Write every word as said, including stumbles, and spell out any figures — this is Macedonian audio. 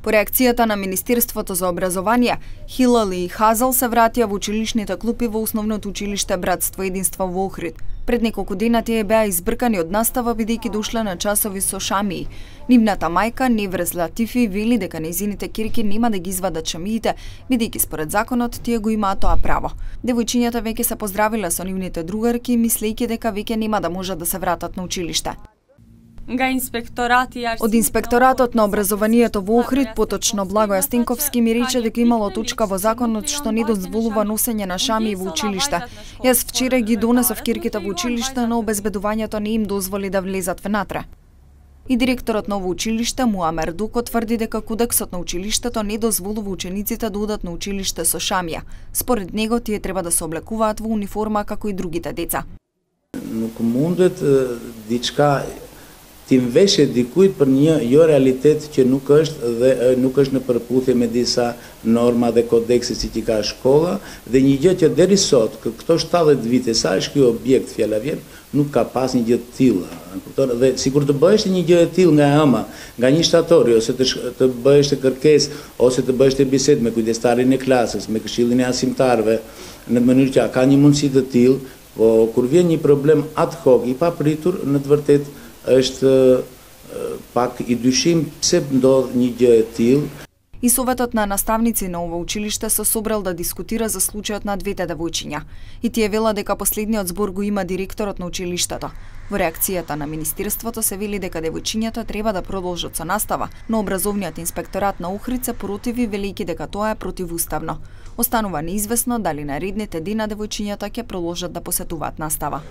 По реакцијата на Министерството за образование, Хилали и Хазал се вратија во училишните клупи во основното училиште Братство и единство во Охрид. Пред неколку дена тие беа избркани од настава бидејќи дошле на часови со шамии. Нивната мајка Неврез Латифи вели дека нејзините ќерки нема да ги извадат шамиите, бидејќи според законот тие го имаат тоа право. Девојчињата веќе се поздравиле со нивните другарки, мислејќи дека веќе нема да можат да се вратат на училиште. Од Инспекторатот на образованието во Охрид, поточно Благоја Стенковски, ми рече дека имало точка во законот што не дозволува носење на шамии во училиште. Јас вчера ги донесов ќерките во училиште, но обезбедувањето не им дозволи да влезат внатре. И директорот на ово училиште, Муамер Дуко, тврди дека кодексот на училиштето не дозволува учениците да одат на училиште со шамија. Според него, тие треба да се облекуваат во униформа како и другите деца. Nuk mundet diçka ti mveshje dikujt për një jo realitet që nuk është dhe nuk është në përputhje me disa norma dhe kodekse si që ka shkolla, dhe një gjë që deri sot, këto shtatëdhjetë vite sa është ky objekt fjala vjen, nuk ka pas një gjë të tillë. Dhe sikur të bëhesh një gjë e tillë nga ëma, nga një shtatori ose të, të bëhesh të kërkesë ose të bëhesh të bisedë me kujdestarin e klasës, me këshillin e arsimtarëve, në mënyrë që ka një mundësi të tillë, po kur vjen një problem ad hoc i papritur, në të vërtetë është pak i dyshim pse ndodh një gjë e tillë. И советот на наставници на ова училиште се собрал да дискутира за случајот на двете девојчиња. И тие велат дека последниот збор го има директорот на училиштето. Во реакцијата на Министерството се вели дека девојчињата треба да продолжат со настава, но образовниот инспекторат на Охрид се противи, велејќи дека тоа е противуставно. Останува неизвестно дали наредните дена девојчињата ќе продолжат да посетуваат настава.